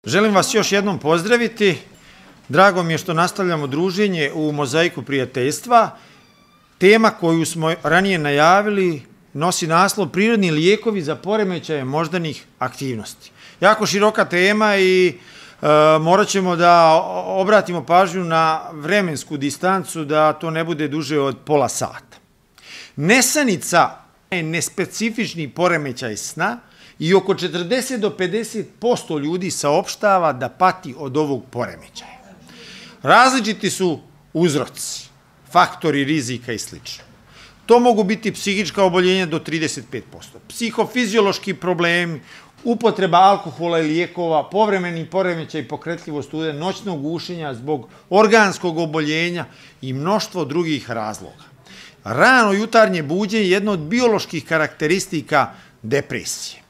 Želim vas još jednom pozdraviti. Drago mi je što nastavljamo druženje u Mozaiku prijateljstva. Tema koju smo ranije najavili nosi naslov Prirodni lijekovi za poremećaje moždanih aktivnosti. Jako široka tema i morat ćemo da obratimo pažnju na vremensku distancu da to ne bude duže od pola sata. Nesanica je nespecifični poremećaj sna i oko 40 do 50% ljudi saopštava da pati od ovog poremećaja. Različiti su uzroci, faktori rizika i sl. To mogu biti psihička oboljenja do 35%, psihofiziološki problemi, upotreba alkohola i lijekova, povremeni poremećaj pokretljivost ude, noćno gušenja zbog organskog oboljenja i mnoštvo drugih razloga. Rano jutarnje buđenje je jedno od bioloških karakteristika depresije.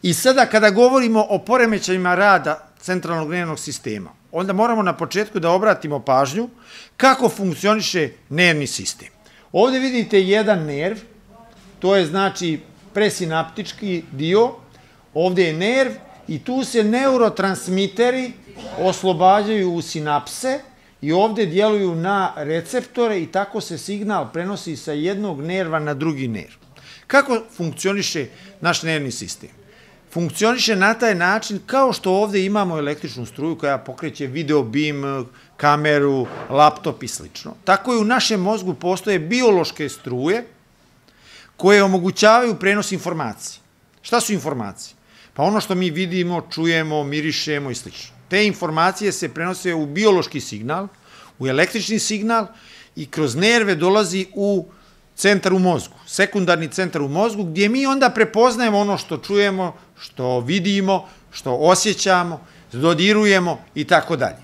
I sada kada govorimo o poremećajima rada centralnog nervnog sistema, onda moramo na početku da obratimo pažnju kako funkcioniše nervni sistem. Ovdje vidite jedan nerv, to je znači presinaptički dio, ovdje je nerv i tu se neurotransmiteri oslobađaju u sinapse i ovdje djeluju na receptore i tako se signal prenosi sa jednog nerva na drugi nerv. Kako funkcioniše naš nervni sistem? Funkcioniše na taj način kao što ovdje imamo električnu struju koja pokreće video bim, kameru, laptop i sl. Tako i u našem mozgu postoje biološke struje koje omogućavaju prenos informacije. Šta su informacije? Pa ono što mi vidimo, čujemo, mirišemo i sl. Te informacije se prenose u biološki signal, u električni signal i kroz nerve dolazi u centar u mozgu, sekundarni centar u mozgu, gdje mi onda prepoznajemo ono što čujemo, što vidimo, što osjećamo, dodirujemo i tako dalje.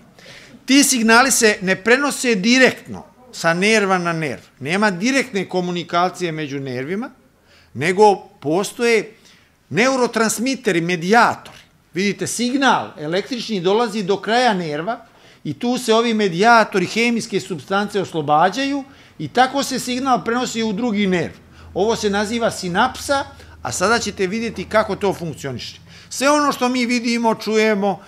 Ti signali se ne prenose direktno sa nerva na nerv. Nema direktne komunikacije među nervima, nego postoje neurotransmiteri, medijatori. Vidite, signal električni dolazi do kraja nerva i tu se ovi medijatori, hemijske supstance oslobađaju i tako se signal prenosi u drugi nerv. Ovo se naziva sinapsa, a sada ćete vidjeti kako to funkcioniše. Sve ono što mi vidimo, čujemo,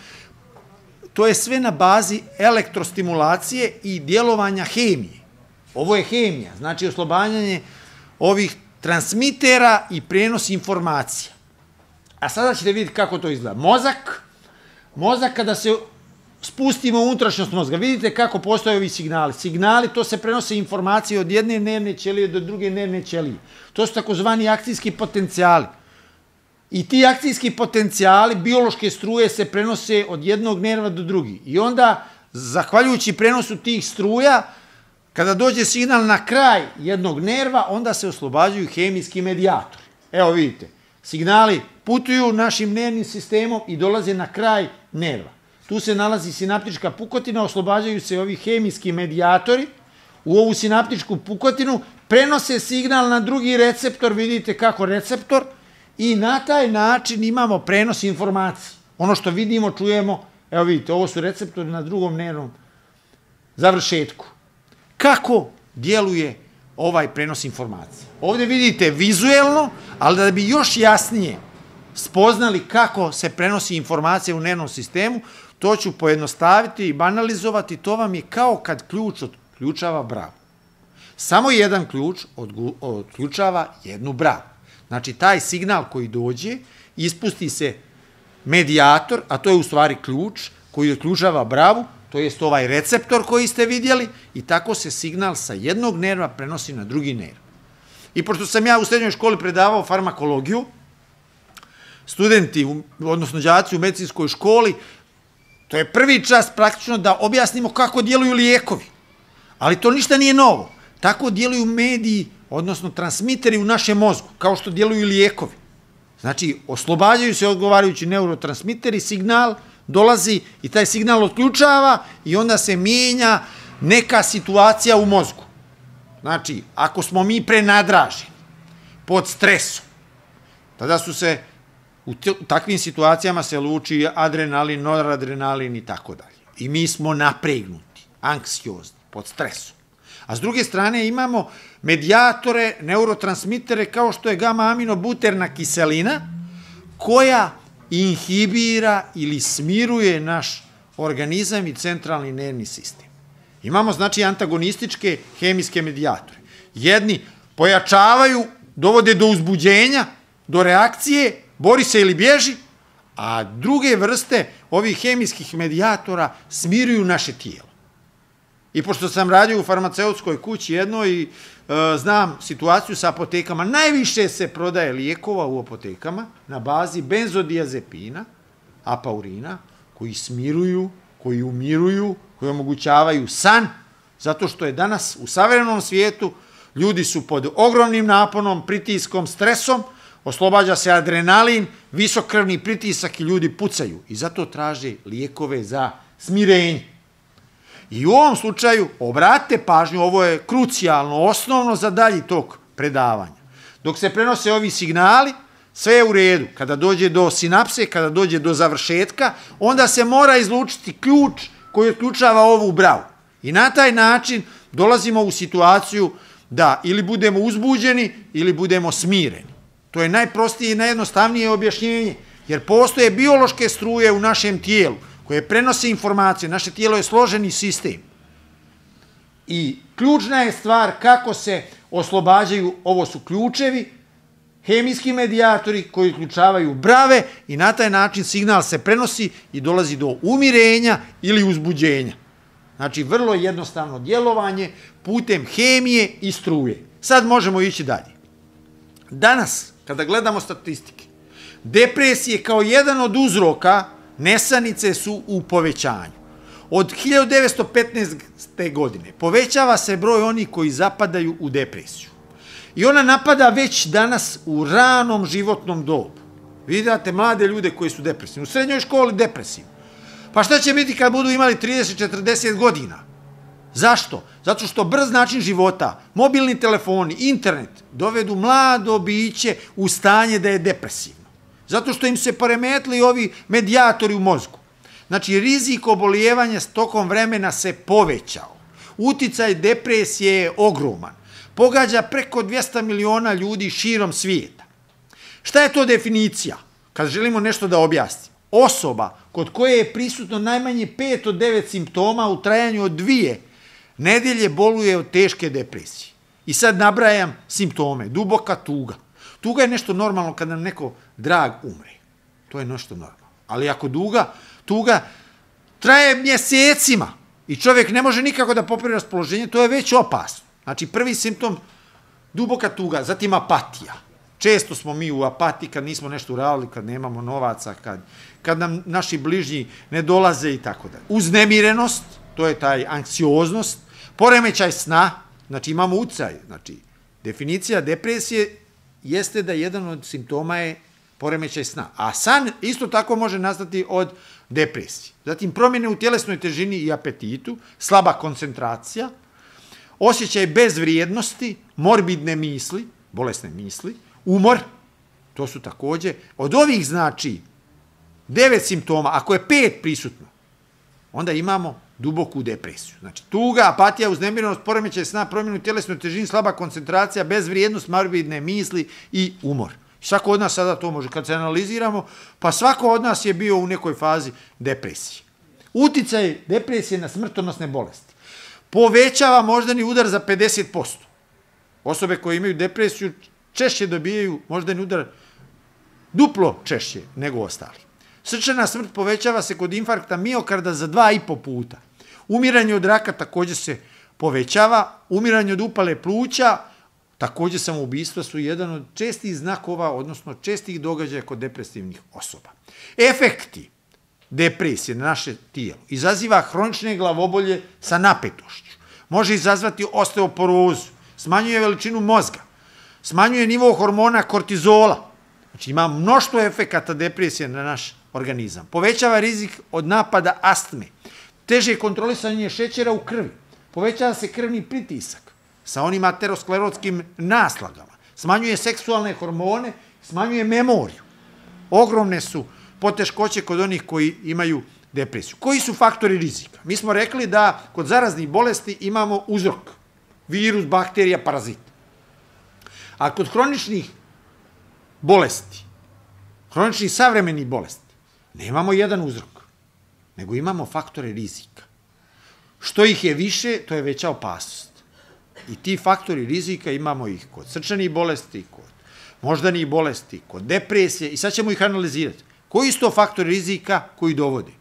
to je sve na bazi elektrostimulacije i djelovanja hemije. Ovo je hemija, znači oslobađanje ovih transmitera i prenos informacija. A sada ćete vidjeti kako to izgleda. Mozak kada se spustimo u unutrašnjost mozga, vidite kako postoje ovi signali. Signali, to se prenose informacije od jedne nervne ćelije do druge nervne ćelije. To su takozvani akcijski potencijali. I ti akcijski potencijali, biološke struje se prenose od jednog nerva do drugi. I onda, zahvaljujući prenosu tih struja, kada dođe signal na kraj jednog nerva, onda se oslobađaju hemijski medijatori. Evo vidite, signali putuju našim nervnim sistemom i dolaze na kraj nerva. Tu se nalazi sinaptička pukotina, oslobađaju se ovi hemijski medijatori u ovu sinaptičku pukotinu, prenose signal na drugi receptor, vidite kako receptor, i na taj način imamo prenos informacije. Ono što vidimo, čujemo, evo vidite, ovo su receptori na drugom nervnom završetku. Kako djeluje ovaj prenos informacije? Ovdje vidite vizuelno, ali da bi još jasnije spoznali kako se prenosi informacija u nervnom sistemu, to ću pojednostaviti i banalizovati. To vam je kao kad ključ otključava bravu. Samo jedan ključ otključava jednu bravu. Znači, taj signal koji dođe, ispusti se medijator, a to je u stvari ključ koji otključava bravu, to jest ovaj receptor koji ste vidjeli, i tako se signal sa jednog nerva prenosi na drugi nerv. I pošto sam ja u srednjoj školi predavao farmakologiju, studenti, odnosno đaci u medicinskoj školi, to je prvi čas praktično da objasnimo kako djeluju lijekovi. Ali to ništa nije novo. Tako djeluju mediji, odnosno transmiteri u našem mozgu, kao što djeluju lijekovi. Znači, oslobađaju se odgovarajući neurotransmiteri, signal dolazi i taj signal otključava i onda se mijenja neka situacija u mozgu. Znači, ako smo mi prenadraženi, pod stresom, tada su se u takvim situacijama se luči adrenalin, noradrenalin i tako dalje. I mi smo napregnuti, anksiozni, pod stresom. A s druge strane imamo medijatore, neurotransmitere kao što je gama-aminobuterna kiselina, koja inhibira ili smiruje naš organizam i centralni nervni sistem. Imamo, znači, antagonističke hemijske medijatore. Jedni pojačavaju, dovode do uzbuđenja, do reakcije, bori se ili bježi, a druge vrste ovih hemijskih medijatora smiruju naše tijelo. I pošto sam radio u farmaceutskoj kući jednoj i znam situaciju sa apotekama, najviše se prodaje lijekova u apotekama na bazi benzodiazepina, apaurina, koji smiruju, koji umiruju, koji omogućavaju san, zato što je danas u savremenom svijetu ljudi su pod ogromnim naponom, pritiskom, stresom, oslobađa se adrenalin, visok krvni pritisak i ljudi pucaju. I zato traže lijekove za smirenje. I u ovom slučaju, obratite pažnju, ovo je krucijalno, osnovno za dalji tok predavanja. Dok se prenose ovi signali, sve je u redu. Kada dođe do sinapse, kada dođe do završetka, onda se mora izlučiti ključ koji otključava ovu bravu. I na taj način dolazimo u situaciju da ili budemo uzbuđeni ili budemo smireni. To je najprostije i najjednostavnije objašnjenje, jer postoje biološke struje u našem tijelu koje prenose informacije. Naše tijelo je složeni sistem. I ključna je stvar kako se oslobađaju, ovo su ključevi, hemijski medijatori koji uključavaju brave i na taj način signal se prenosi i dolazi do umirenja ili uzbuđenja. Znači, vrlo jednostavno djelovanje putem hemije i struje. Sad možemo ići dalje. Danas, kada gledamo statistike, depresije kao jedan od uzroka nesanice su u povećanju. Od 1915. godine povećava se broj onih koji zapadaju u depresiju. I ona napada već danas u ranom životnom dobu. Vidite mlade ljude koji su depresivni. U srednjoj školi depresivni. Pa šta će biti kad budu imali 30-40 godina? Zašto? Zato što brz način života, mobilni telefoni, internet dovedu mlado biće u stanje da je depresivno. Zato što im se poremetili ovi medijatori u mozgu. Znači, rizik obolijevanja s tokom vremena se povećao. Uticaj depresije je ogroman. Pogađa preko 200 miliona ljudi širom svijeta. Šta je to definicija? Kad želimo nešto da objasnimo. Osoba kod koje je prisutno najmanje 5 od 9 simptoma u trajanju od 2 nedelje boluje od teške depresije. I sad nabrajam simptome. Duboka tuga. Tuga je nešto normalno kad nam neko drag umre. To je nešto normalno. Ali ako tuga traje mjesecima i čovjek ne može nikako da popravi raspoloženje, to je već opasno. Znači, prvi simptom, duboka tuga, zatim apatija. Često smo mi u apatiji kad nismo nešto uradili, kad nemamo novaca, kad nam naši bližnji ne dolaze i tako dalje. Uznemirenost, to je taj anksioznost, poremećaj sna, znači imamo ucaj. Znači, definicija depresije jeste da jedan od simptoma je poremećaj sna. A san isto tako može nastati od depresije. Zatim promjene u tjelesnoj težini i apetitu, slaba koncentracija, osjećaj bezvrijednosti, morbidne misli, bolesne misli, umor, to su također, od ovih znači 9 simptoma, ako je 5 prisutno, onda imamo duboku depresiju. Znači, tuga, apatija, uznemirenost, poremećaj sna, promjenu tjelesnoj težini, slaba koncentracija, bezvrijednost, morbidne misli i umor. Svako od nas sada to može. Kad se analiziramo, pa svako od nas je bio u nekoj fazi depresije. Uticaj depresije na smrtonosne bolesti. Povećava moždani udar za 50%. Osobe koje imaju depresiju češće dobijaju moždani udar duplo češće nego ostali. Srčana smrt povećava se kod infarkta miokarda za 2,5 puta. Umiranje od raka također se povećava. Umiranje od upale pluća, također samoubistva su jedan od čestih znakova, odnosno čestih događaja kod depresivnih osoba. Efekti depresije na naše tijelo izaziva hronične glavobolje sa napetošću. Može izazvati osteoporozu, smanjuje veličinu mozga, smanjuje nivo hormona kortizola. Znači ima mnoštvo efekata depresije na naš organizam. Povećava rizik od napada astme, teže kontrolisanje šećera u krvi, povećava se krvni pritisak sa onim aterosklerotskim naslagama, smanjuje seksualne hormone, smanjuje memoriju. Ogromne su poteškoće kod onih koji imaju depresiju. Koji su faktori rizika? Mi smo rekli da kod zaraznih bolesti imamo uzrok, virus, bakterija, parazit. A kod hroničnih bolesti, hroničnih savremenih bolesti, Nemamo jedan uzrok, nego imamo faktore rizika. Što ih je više, to je veća opasnost. I ti faktori rizika imamo ih kod srčanih bolesti, kod moždanih bolesti, kod depresije i sad ćemo ih analizirati. Koji su to faktori rizika koji dovode?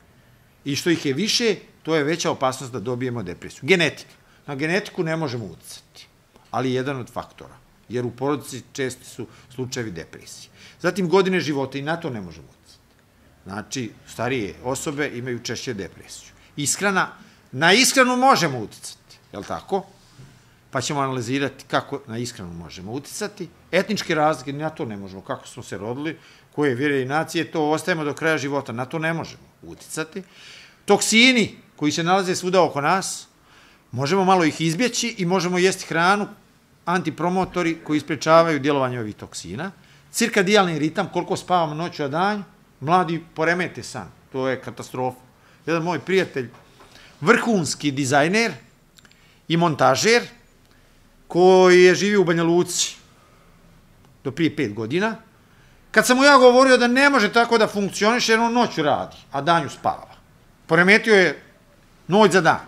I što ih je više, to je veća opasnost da dobijemo depresiju. Genetika. Na genetiku ne možemo uticati, ali je jedan od faktora, jer u porodici česti su slučajevi depresije. Zatim godine života i na to ne možemo uticati. Znači, starije osobe imaju češće depresiju. Ishrana, na ishranu možemo uticati, je li tako? Pa ćemo analizirati kako na ishranu možemo uticati. Etničke razlike, na to ne možemo, kako smo se rodili, koje vjere i nacije, to ostajemo do kraja života, na to ne možemo uticati. Toksini koji se nalaze svuda oko nas, možemo malo ih izbjeći i možemo jesti hranu, antipromotori koji sprečavaju djelovanje ovih toksina. Cirkadijalni ritam, koliko spavamo noću a danju, mladi poremete san, to je katastrofa. Jedan moj prijatelj, vrhunski dizajner i montažer, koji je živio u Banja Luci do prije 5 godina, kad sam mu ja govorio da ne može tako da funkcioniše, jer on noću radi, a danju spava. Poremetio je noć za dan.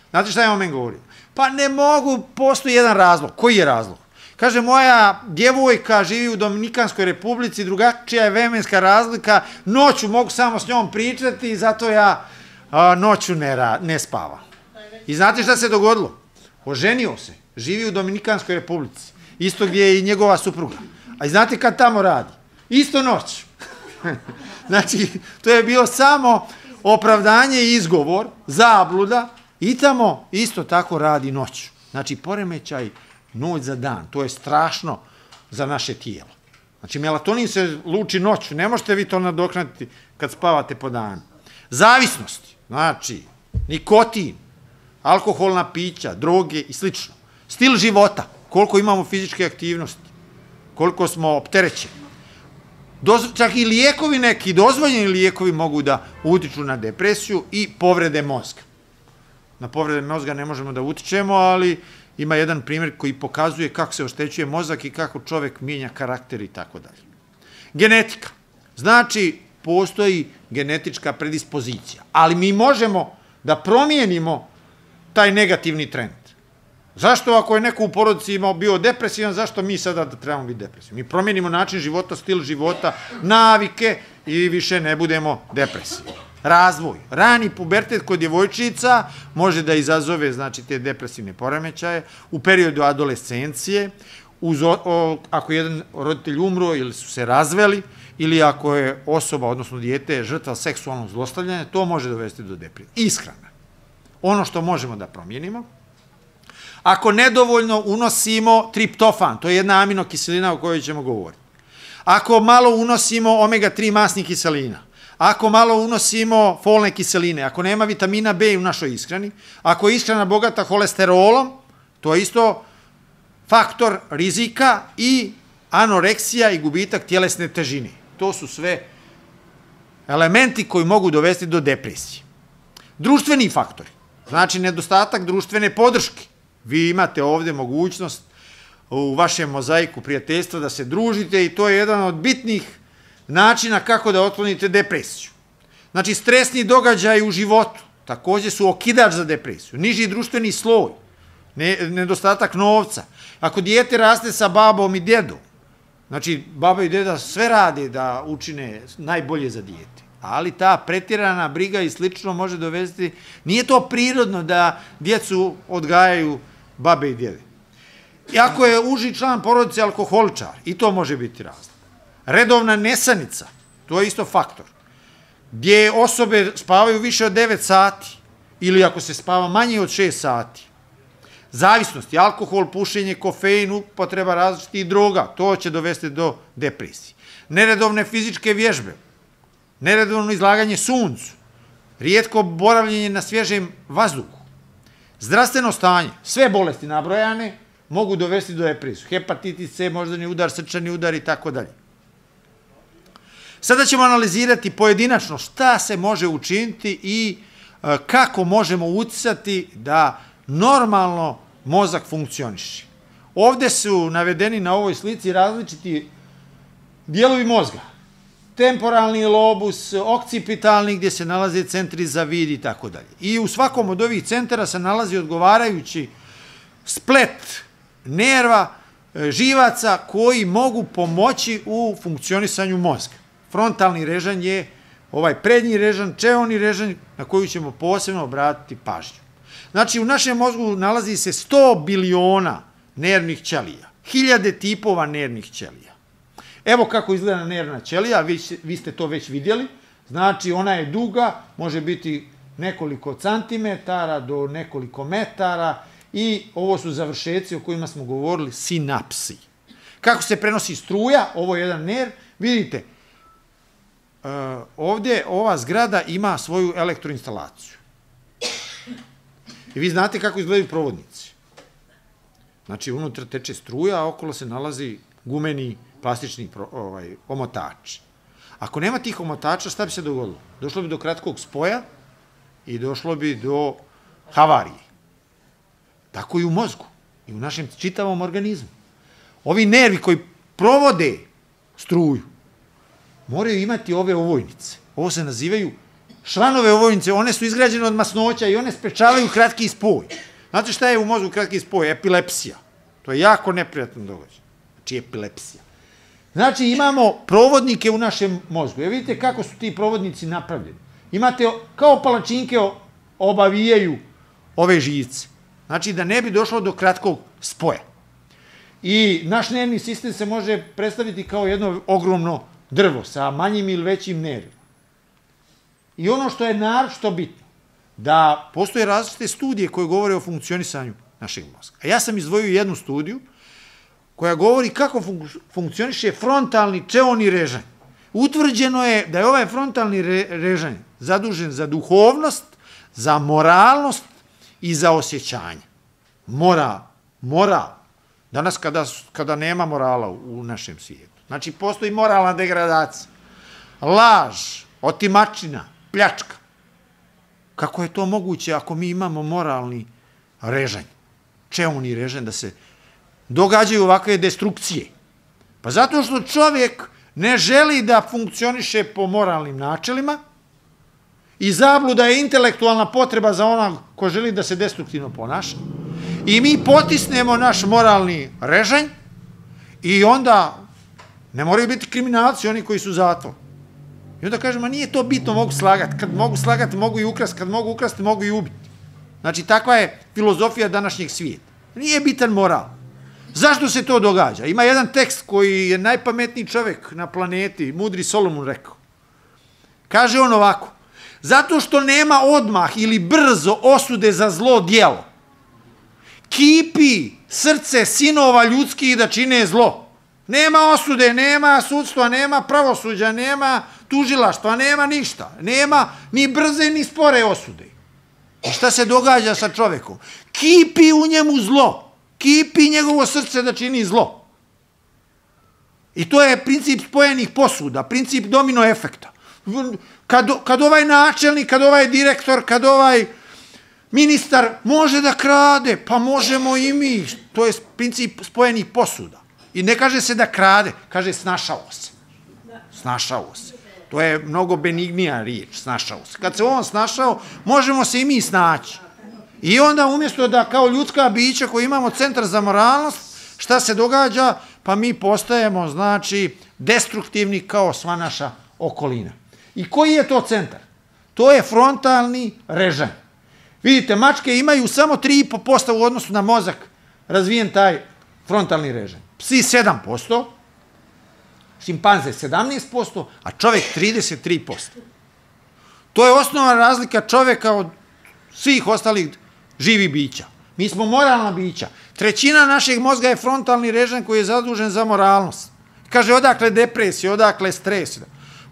Znate šta je on meni govorio? Pa ne mogu, postoji jedan razlog. Koji je razlog? Kaže, moja djevojka živi u Dominikanskoj republici, drugačija je vremenska razlika, noću mogu samo s njom pričati i zato ja noću ne spavam. I znate šta se dogodilo? Oženio se, živi u Dominikanskoj republici, isto gdje je i njegova supruga. A i znate kad tamo radi? Isto noć. Znači, to je bilo samo opravdanje i izgovor, zabluda, i tamo isto tako radi noć. Znači, poremećaj noć za dan, to je strašno za naše tijelo. Znači, melatonin se luči noću, ne možete vi to nadoknaditi kad spavate po danu. Zavisnosti, znači, nikotin, alkoholna pića, droge i slično. Stil života, koliko imamo fizičke aktivnosti, koliko smo opterećeni. Čak i lijekovi neki, dozvoljeni lijekovi mogu da utiču na depresiju i povrede mozga. Na povrede mozga ne možemo da utičemo, ali ima jedan primjer koji pokazuje kako se oštećuje mozak i kako čovjek mijenja karakter i tako dalje. Genetika. Znači, postoji genetička predispozicija, ali mi možemo da promijenimo taj negativni trend. Zašto ako je neko u porodici bio depresivan, zašto mi sada trebamo biti depresivni? Mi promijenimo način života, stil života, navike i više ne budemo depresivni. Razvoj. Rani pubertet kod djevojčica može da izazove, znači, te depresivne poremećaje u periodu adolescencije, ako je jedan roditelj umro ili su se razveli, ili ako je osoba, odnosno dijete, žrtva seksualnog zlostavljanja, to može dovesti do depresije. Ishrana. Ono što možemo da promijenimo. Ako nedovoljno unosimo triptofan, to je jedna aminokiselina o kojoj ćemo govoriti. Ako malo unosimo omega-3 masnih kiselina, ako malo unosimo folne kiseline, ako nema vitamina B u našoj ishrani, ako je ishrana bogata holesterolom, to je isto faktor rizika i anoreksija i gubitak tjelesne težine. To su sve elementi koji mogu dovesti do depresije. Društveni faktori, znači nedostatak društvene podrške. Vi imate ovdje mogućnost u vašem mozaiku prijateljstva da se družite i to je jedan od bitnih načina kako da otklonite depresiju. Znači, stresni događaji u životu također su okidač za depresiju. Niži društveni sloj, nedostatak novca. Ako dijete raste sa babom i djedom, znači, baba i djeda sve rade da učine najbolje za dijete, ali ta pretjerana briga i slično može dovesti, nije to prirodno da djecu odgajaju babe i djede. I ako je uži član porodice alkoholičar, i to može biti razlog. Redovna nesanica, to je isto faktor. Gdje osobe spavaju više od 9 sati, ili ako se spava manje od 6 sati. Zavisnosti, alkohol, pušenje, kofein, upotreba različitih droga, to će dovesti do depresije. Neredovne fizičke vježbe, neredovno izlaganje suncu, rijetko boravljenje na svježem vazduhu, zdravstveno stanje, sve bolesti nabrojane mogu dovesti do depresije. Hepatitis C, moždani udar, srčani udar i tako dalje. Sada ćemo analizirati pojedinačno šta se može učiniti i kako možemo uticati da normalno mozak funkcioniše. Ovdje su navedeni na ovoj slici različiti dijelovi mozga. temporalni lobus, okcipitalni gdje se nalaze centri za vid i tako dalje. I u svakom od ovih centara se nalazi odgovarajući splet nerva, živaca koji mogu pomoći u funkcionisanju mozga. Frontalni režanj je ovaj prednji režanj, čeoni režanj na koju ćemo posebno obratiti pažnju. Znači, u našem mozgu nalazi se 100 biliona nervnih ćelija, 1000 tipova nervnih ćelija. Evo kako izgleda nervna ćelija, vi ste to već vidjeli. Znači, ona je duga, može biti nekoliko centimetara do nekoliko metara i ovo su završeci o kojima smo govorili, sinapsi. Kako se prenosi struja, ovo je jedan nerv, vidite, ovdje ova zgrada ima svoju elektroinstalaciju. I vi znate kako izgledaju provodnici. Znači, unutra teče struja, a okolo se nalazi gumeni plastični omotač. Ako nema tih omotača, šta bi se dogodilo? Došlo bi do kratkog spoja i došlo bi do havarije. Tako i u mozgu i u našem čitavom organizmu. Ovi nervi koji provode struju moraju imati ove ovojnice. Ovo se nazivaju šranove ovojnice, one su izgrađene od masnoća i one sprečavaju kratki spoj. Znate šta je u mozgu kratki spoj? Epilepsija. To je jako neprijatno događaj. Znači epilepsija. Znači imamo provodnike u našem mozgu. Vidite kako su ti provodnici napravljeni. Imate kao palačinke obavijaju ove živce. Znači da ne bi došlo do kratkog spoja. I naš nervni sistem se može predstaviti kao jedno ogromno drvo sa manjim ili većim nervima. I ono što je naročito bitno, da postoje različite studije koje govore o funkcionisanju našeg mozga. A ja sam izdvojio jednu studiju koja govori kako funkcioniše frontalni čeoni režanj. Utvrđeno je da je ovaj frontalni režanj zadužen za duhovnost, za moralnost i za osjećanje. Moral. Danas kada nema morala u našem svijetu. Znači, postoji moralna degradacija, laž, otimačina, pljačka. Kako je to moguće ako mi imamo moralni režanj, čeoni režanj, da se događaju ovakve destrukcije? Pa zato što čovjek ne želi da funkcioniše po moralnim načelima i zabluda je intelektualna potreba za onog ko želi da se destruktivno ponaša. I mi potisnemo naš moralni režanj i onda ne moraju biti kriminalci oni koji su zatvor. I onda kažemo, nije to bitno, mogu slagati. Kad mogu slagati, mogu i ukrasti. Kad mogu ukrasti, mogu i ubiti. Znači, takva je filozofija današnjeg svijeta. Nije bitan moral. Zašto se to događa? Ima jedan tekst koji je najpametniji čovjek na planeti, mudri Solomon rekao. Kaže on ovako, zato što nema odmah ili brzo osude za zlo djelo, kipi srce sinova ljudskih da čine zlo. Nema osude, nema sudstva, nema pravosuđa, nema tužilaštva, nema ništa. Nema ni brze ni spore osude. I šta se događa sa čovjekom? Kipi u njemu zlo. Kipi njegovo srce da čini zlo. I to je princip spojenih posuda, princip domino efekta. Kad ovaj načelnik, kad ovaj direktor, kad ovaj ministar može da krade, pa možemo i mi. To je princip spojenih posuda. I ne kaže se da krade, kaže snašao se. Snašao se. To je mnogo benignija riječ, snašao se. Kad se on snašao, možemo se i mi snaći. I onda umjesto da kao ljudska bića koji imamo centar za moralnost, šta se događa? Pa mi postajemo, znači, destruktivni kao sva naša okolina. I koji je to centar? To je frontalni režanj. Vidite, mačke imaju samo 3,5% u odnosu na mozak razvijen taj frontalni režanj. Psi 7%, šimpanze 17%, a čovjek 33%. To je osnovna razlika čovjeka od svih ostalih živih bića. Mi smo moralna bića. 1/3 našeg mozga je frontalni režanj koji je zadužen za moralnost. Kaže, odakle depresija, odakle stres?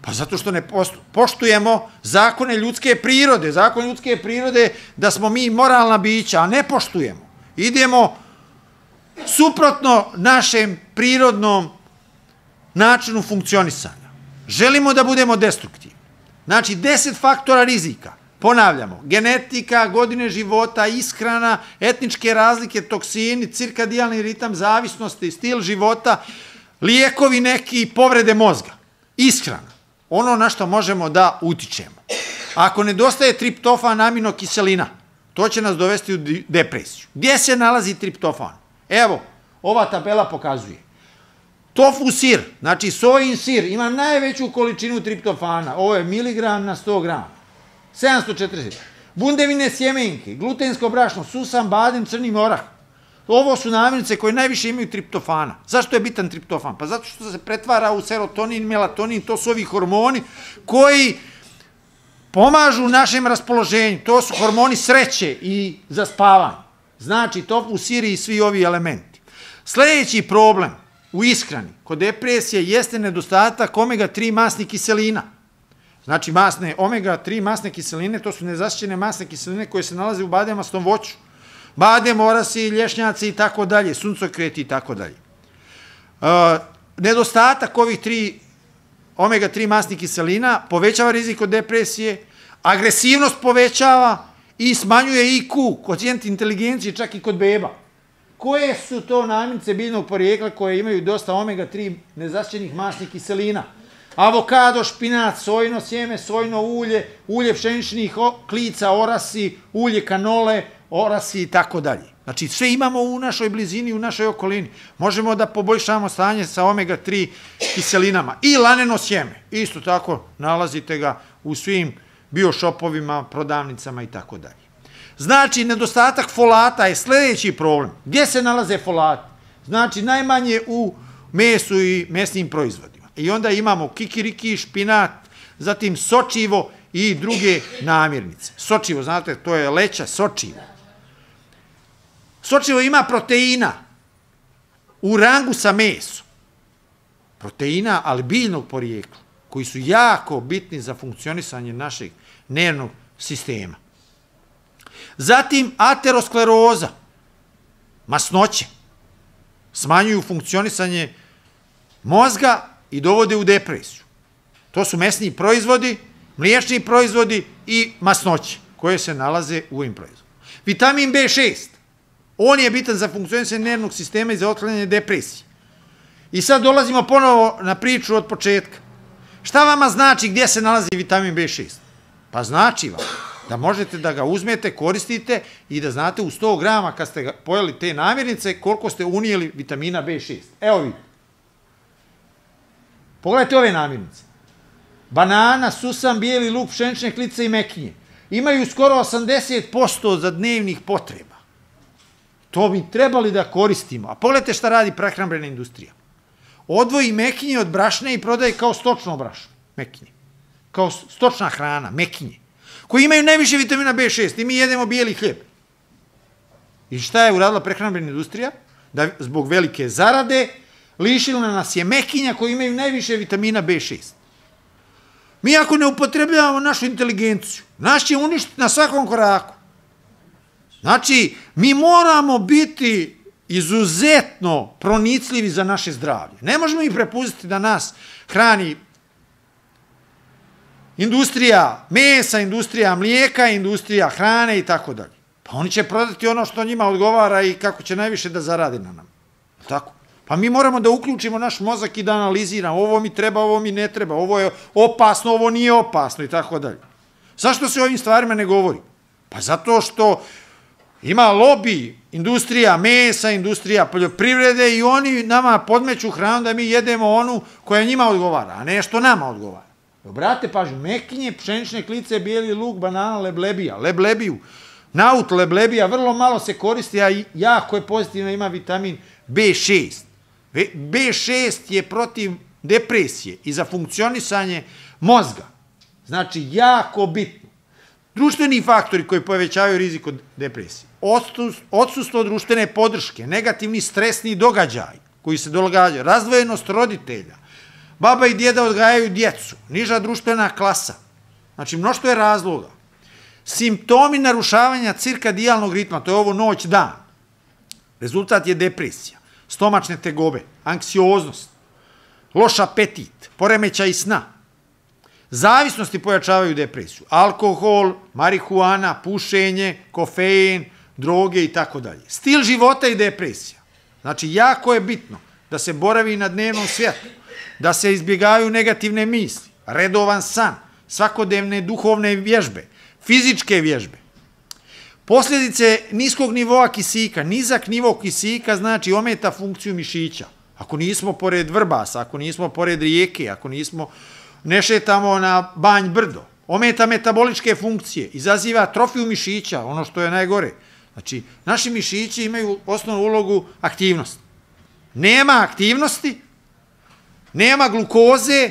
Pa zato što ne poštujemo zakone ljudske prirode. Zakon ljudske prirode da smo mi moralna bića, a ne poštujemo. Idemo suprotno našem prirodnom načinu funkcionisanja. Želimo da budemo destruktivni. Znači, 10 faktora rizika. Ponavljamo, genetika, godine života, ishrana, etničke razlike, toksini, cirkadijalni ritam, zavisnosti, stil života, lijekovi neki, povrede mozga. Ishrana. ono na što možemo da utičemo. Ako nedostaje triptofan, aminokiselina, to će nas dovesti u depresiju. Gdje se nalazi triptofan? Evo, ova tabela pokazuje. Tofu sir, znači sojin sir, ima najveću količinu triptofana. Ovo je miligram na 100 grama. 740. Bundevine sjemenke, glutensko brašno, susan, badem, crni orah. Ovo su namirnice koje najviše imaju triptofana. Zašto je bitan triptofan? Pa zato što se pretvara u serotonin, melatonin, to su ovi hormoni koji pomažu našem raspoloženju. To su hormoni sreće i zaspavanja. Znači, tofu, sir i svi ovi elementi. Sljedeći problem u ishrani kod depresije jeste nedostatak omega-3 masnih kiselina. Znači, omega-3 masne kiseline, to su nezasićene masne kiseline koje se nalaze u bademastom voću. Badem, orasi, lješnjaci i tako dalje, suncokreti i tako dalje. Nedostatak ovih omega-3 masnih kiselina povećava rizik od depresije, agresivnost povećava i smanjuje IQ, koeficijent inteligencije, čak i kod beba. Koje su to namirnice biljnog porijekla koje imaju dosta omega-3 nezasićenih masnih kiselina? Avokado, špinac, sojino sjeme, sojino ulje, ulje pšeničnih klica, orasi, ulje kanole, orasi i tako dalje. Znači, sve imamo u našoj blizini, u našoj okolini. Možemo da poboljšamo stanje sa omega-3 kiselinama. I laneno sjeme. Isto tako, nalazite ga u svim biošopovima, prodavnicama i tako dalje. Znači, nedostatak folata je sljedeći problem. Gdje se nalaze folati? Znači, najmanje u mesu i mesnim proizvodima. I onda imamo kikiriki, špinat, zatim sočivo i druge namirnice. Sočivo, znate, to je leća, sočivo. Sočivo ima proteina u rangu sa mesom. Proteina, ali biljnog porijekla, koji su jako bitni za funkcionisanje našeg nervnog sistema. Zatim, ateroskleroza, masnoće, smanjuju funkcionisanje mozga i dovode u depresiju. To su mesni proizvodi, mliječni proizvodi i masnoće koje se nalaze u ovim proizvodima. Vitamin B6, on je bitan za funkcionisanje nervnog sistema i za otklanjanje depresije. I sad dolazimo ponovo na priču od početka. Šta vama znači gdje se nalazi vitamin B6? Pa znači vam da možete da ga uzmete, koristite i da znate u 100 grama kad ste pojeli te namirnice koliko ste unijeli vitamina B6. Evo vidite. Pogledajte ove namirnice. Banana, susan, bijeli luk, pšenične klice i mekinje. Imaju skoro 80% za dnevnih potreba. To bi trebali da koristimo. A pogledajte šta radi prehrambena industrija. Odvoji mekinje od brašna i prodaje kao stočno brašno. Mekinje. Kao stočna hrana, mekinje. Koji imaju najviše vitamina B6 i mi jedemo bijeli hljeb. I šta je uradila prehrambena industrija? Da zbog velike zarade lišila nas je mekinja koji imaju najviše vitamina B6. Mi ako ne upotrebljavamo našu inteligenciju, nas će uništiti na svakom koraku. Znači, mi moramo biti izuzetno pronicljivi za naše zdravlje. Ne možemo ih prepustiti da nas hrani industrija mesa, industrija mlijeka, industrija hrane i tako dalje. Pa oni će prodati ono što njima odgovara i kako će najviše da zaradi na nam. Tako? Pa mi moramo da uključimo naš mozak i da analiziramo. Ovo mi treba, ovo mi ne treba. Ovo je opasno, ovo nije opasno i tako dalje. Zašto se o ovim stvarima ne govori? Pa zato što ima lobi, industrija mesa, industrija poljoprivrede i oni nama podmeću hranu da mi jedemo onu koja njima odgovara, a ne što nama odgovara. Obratite pažnju, mekinje, pšenične klice, bijeli luk, banana, leblebija, leblebiju, naut leblebija, vrlo malo se koristi, a jako je pozitivno, ima vitamin B6. B6 je protiv depresije i za funkcionisanje mozga. Znači, jako bitno. Društveni faktori koji povećavaju rizik od depresije. Odsustvo društvene podrške, negativni stresni događaj koji se događaju, razdvojenost roditelja, baba i djeda odgajaju djecu, niža društvena klasa. Znači, mnoštvo je razloga. Simptomi narušavanja cirkadijalnog ritma, to je ovo noć-dan. Rezultat je depresija, stomačne tegobe, anksioznost, loš apetit, poremećaj sna. Zavisnosti pojačavaju depresiju. Alkohol, marihuana, pušenje, kofein, droge i tako dalje. Stil života i depresija. Znači, jako je bitno da se boravi na dnevnom svijetu, da se izbjegavaju negativne misli, redovan san, svakodnevne duhovne vježbe, fizičke vježbe. Posljedice niskog nivoa kisika, nizak nivo kisika znači ometa funkciju mišića. Ako nismo pored Vrbasa, ako nismo pored rijeke, ako ne šetamo na Banj brdo, ometa metaboličke funkcije, izaziva atrofiju mišića, ono što je najgore. Znači, naši mišići imaju osnovnu ulogu aktivnosti. Nema aktivnosti, nema glukoze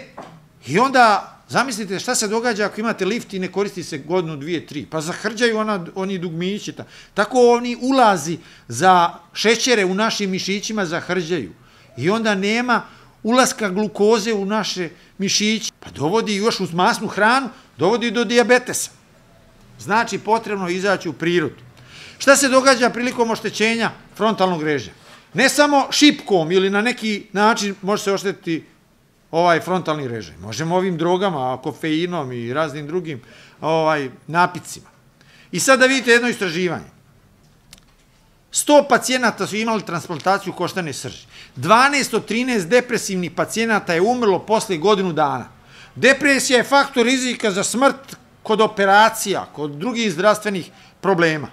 i onda zamislite šta se događa ako imate lift i ne koristi se godinu, 2, 3. Pa zahrđaju oni dugmići. Tako oni ulazi za šećere u našim mišićima zahrđaju. I onda nema ulaska glukoze u naše mišiće. Pa dovodi još uz masnu hranu, dovodi do dijabetesa. Znači potrebno izaći u prirodu. Šta se događa prilikom oštećenja frontalnog reža? Ne samo šipkom ili na neki način može se oštetiti ovaj frontalni režaj. Možemo ovim drogama, kofeinom i raznim drugim napicima. I sad da vidite jedno istraživanje. 100 pacijenata su imali transplantaciju koštane srži. 12 od 13 depresivnih pacijenata je umrlo posle godinu dana. Depresija je faktor rizika za smrt kod operacija, kod drugih zdravstvenih problema.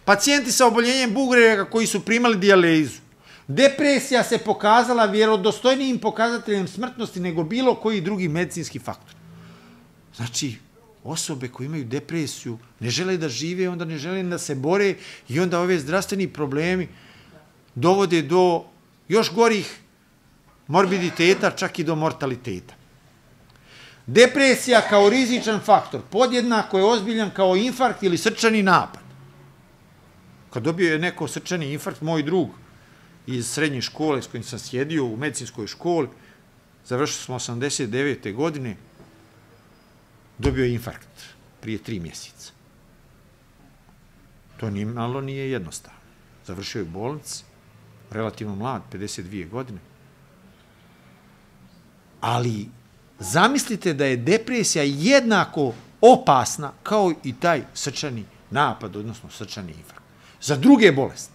Pacijenti sa oboljenjem bubrega koji su primali dijalizu. Depresija se pokazala vjerodostojnijim pokazateljem smrtnosti nego bilo koji drugi medicinski faktor. Znači, osobe koje imaju depresiju ne žele da žive, onda ne žele da se bore i onda ove zdravstveni problemi dovode do još gorih morbiditeta, čak i do mortaliteta. Depresija kao rizičan faktor podjednako je ozbiljan kao infarkt ili srčani napad. Kad dobio je neko srčani infarkt, moj drug iz srednje škole s kojim sam sjedio u medicinskoj školi, završili smo 89. godine, dobio je infarkt prije 3 mjeseca. To malo nije jednostavno. Završio je u bolnici, relativno mlad, 52 godine. Ali zamislite da je depresija jednako opasna kao i taj srčani napad, odnosno srčani infarkt. Za druge bolesti.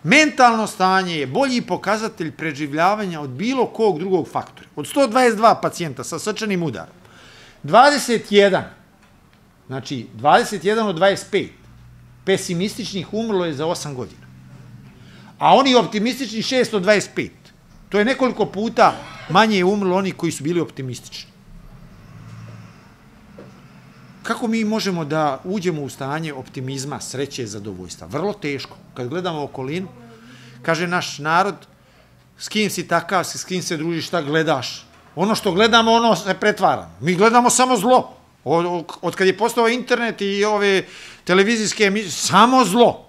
Mentalno stanje je bolji pokazatelj preživljavanja od bilo kog drugog faktora. Od 122 pacijenta sa srčanim udarom, 21, znači 21 od 25 pesimističnih umrlo je za 8 godina. A oni optimistični 6 od 25. To je nekoliko puta manje je umrlo oni koji su bili optimistični. Kako mi možemo da uđemo u stanje optimizma, sreće i zadovoljstva? Vrlo teško. Kad gledamo okolinu, kaže naš narod, s kim si takav, s kim se družiš, šta gledaš? Ono što gledamo, ono se pretvara. Mi gledamo samo zlo. Od kad je postao internet i ove televizijske emisije, samo zlo.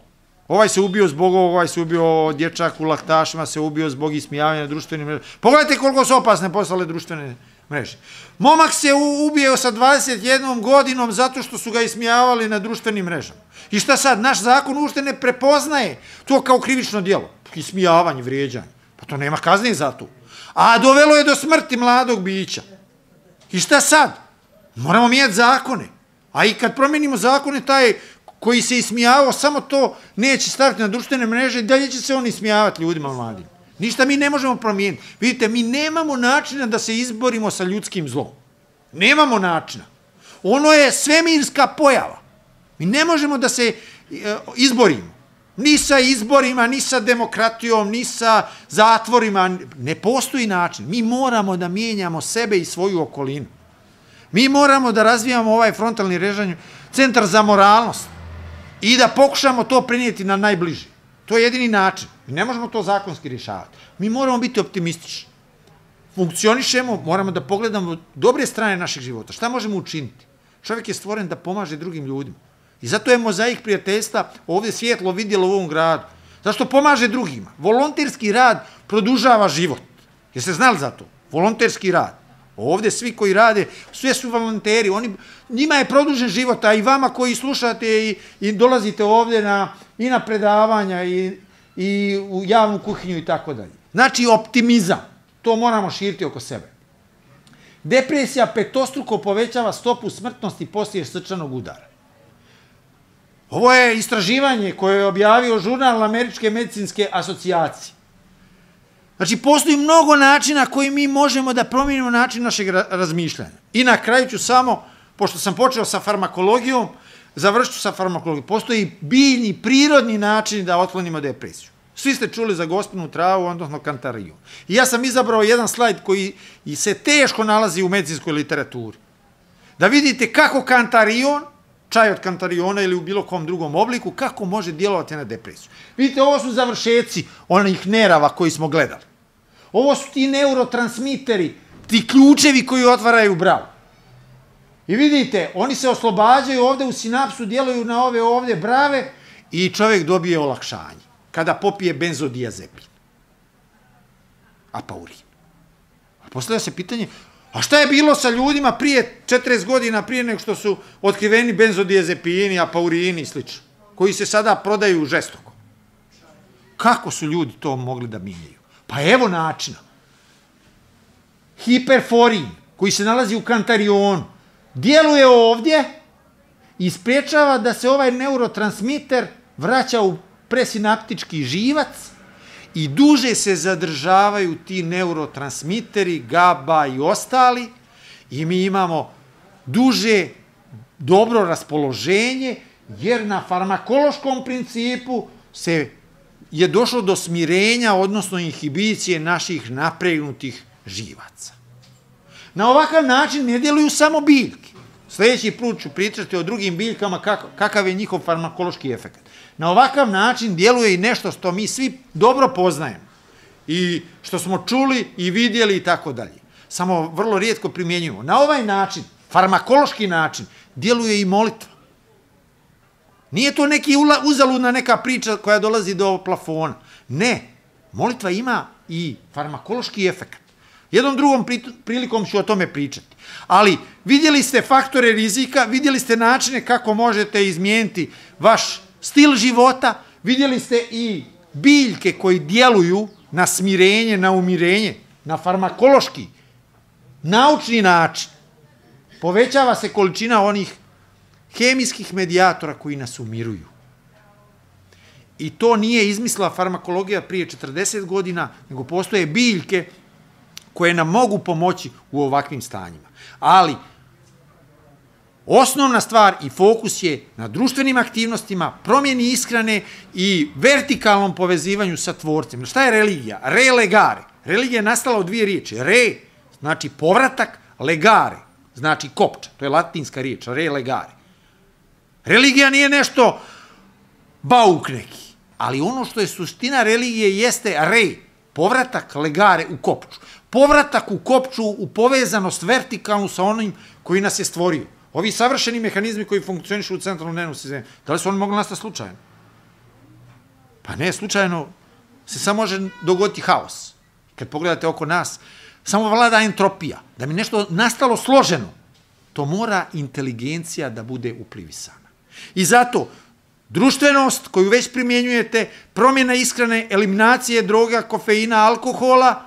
Ovaj se ubio zbog ovog, ovaj se ubio dječak u laktašima, se ubio zbog ismijavanja na društvenim mrežama. Pogledajte koliko su opasne postale društvene mreže. Momak se ubio sa 21 godinom zato što su ga ismijavali na društvenim mrežama. I šta sad? Naš zakon uopšte ne prepoznaje to kao krivično djelo. Ismijavanje, vrijeđanje. Pa to nema kazne za to. A dovelo je do smrti mladog bića. I šta sad? Moramo mijenjati zakone. A i kad promijenimo zakone, taj koji se ismijavao, samo to neće staviti na društvene mreže, dalje će se on ismijavati ljudima mladim. Ništa mi ne možemo promijeniti. Vidite, mi nemamo načina da se izborimo sa ljudskim zlom. Nemamo načina. Ono je svemirska pojava. Mi ne možemo da se izborimo. Ni sa izborima, ni sa demokratijom, ni sa zatvorima. Ne postoji način. Mi moramo da mijenjamo sebe i svoju okolinu. Mi moramo da razvijamo ovaj frontalni režanj, centar za moralnost i da pokušamo to prenijeti na najbliži. To je jedini način. Mi ne možemo to zakonski rješavati. Mi moramo biti optimistični. Funkcionišemo, moramo da pogledamo dobre strane naših života. Šta možemo učiniti? Čovjek je stvoren da pomaže drugim ljudima. I zato je mozaik prijateljstva ovdje svjetlo vidjelo u ovom gradu. Zašto pomaže drugima? Volonterski rad produžava život. Jeste znali za to? Volonterski rad. Ovdje svi koji rade, sve su volonteri. Njima je produžen život, a i vama koji slušate i dolazite ovdje i na predavanja i u javnu kuhinju i tako dalje. Znači optimizam. To moramo širiti oko sebe. Depresija petostruko povećava stopu smrtnosti poslije srčanog udara. Ovo je istraživanje koje je objavio žurnal Američke medicinske asocijacije. Znači, postoji mnogo načina koji mi možemo da promijenimo način našeg razmišljanja. I na kraju ću samo, pošto sam počeo sa farmakologijom, završit ću sa farmakologijom. Postoji biljni, prirodni način da otklonimo depresiju. Svi ste čuli za gospinu travu, odnosno kantariju. I ja sam izabrao jedan slajd koji se teško nalazi u medicinskoj literaturi. Da vidite kako kantarion, čaj od kantariona ili u bilo kom drugom obliku, kako može djelovati na depresiju. Vidite, ovo su završeci onih nerava koji smo gledali. Ovo su ti neurotransmiteri, ti ključevi koji otvaraju bravu. I vidite, oni se oslobađaju ovde u sinapsu, djeluju na ove ovde brave i čovjek dobije olakšanje kada popije benzodiazepin. Apaurin. A postavlja se pitanje, a šta je bilo sa ljudima prije 40 godina, prije nego što su otkriveni benzodiazepini, apaurini i sl. Koji se sada prodaju žestoko? Kako su ljudi to mogli da mijenjaju? Pa evo načina. Hiperforin, koji se nalazi u kantarionu, djeluje ovdje i sprječava da se ovaj neurotransmiter vraća u presinaptički živac i duže se zadržavaju ti neurotransmiteri, GABA i ostali, i mi imamo duže dobro raspoloženje, jer na farmakološkom principu je došlo do smirenja, odnosno inhibicije naših napregnutih živaca. Na ovakav način ne djeluju samo biljke. Sljedeći put ću pričati o drugim biljkama kakav je njihov farmakološki efekt. Na ovakav način djeluje i nešto što mi svi dobro poznajemo i što smo čuli i vidjeli i tako dalje. Samo vrlo rijetko primjenjujemo. Na ovaj način, farmakološki način, djeluje i molitva. Nije to neki uzaludna neka priča koja dolazi do plafona. Ne, molitva ima i farmakološki efekt. Jednom drugom prilikom ću o tome pričati. Ali vidjeli ste faktore rizika, vidjeli ste načine kako možete izmijeniti vaš stil života, vidjeli ste i biljke koji djeluju na smirenje, na umirenje, na farmakološki, naučni način. Povećava se količina onih hemijskih medijatora koji nas umiruju. I to nije izmislila farmakologija prije 40 godina, nego postoje biljke koje nam mogu pomoći u ovakvim stanjima. Ali osnovna stvar i fokus je na društvenim aktivnostima, promjeni ishrane i vertikalnom povezivanju sa tvorcem. Šta je religija? Re legare. Religija je nastala od dvije riječi. Re znači povratak, legare znači kopča. To je latinska riječ, re legare. Religija nije nešto bauk neki, ali ono što je suština religije jeste re, povratak, legare u kopču. Povratak u kopču, u povezanost vertikalnu sa onim koji nas je stvorio. Ovi savršeni mehanizmi koji funkcionišu u centralnom nervnom sistemu, da li su oni mogli nastati slučajno? Pa ne, slučajno se samo može dogoditi haos. Kad pogledate oko nas, samo vlada entropija. Da mi nešto nastalo složeno, to mora inteligencija da bude uplivisana. I zato društvenost koju već primjenjujete, promjena ishrane, eliminacije droga, kofeina, alkohola,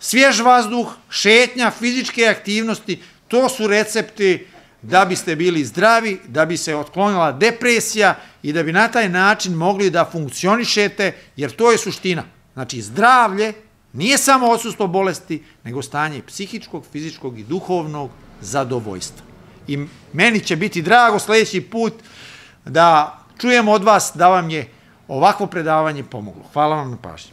svjež vazduh, šetnja, fizičke aktivnosti, to su recepti da biste bili zdravi, da bi se otklonila depresija i da bi na taj način mogli da funkcionišete, jer to je suština. Znači, zdravlje nije samo odsustvo bolesti, nego stanje psihičkog, fizičkog i duhovnog zadovoljstva. I meni će biti drago sljedeći put da čujem od vas da vam je ovakvo predavanje pomoglo. Hvala vam na pažnji.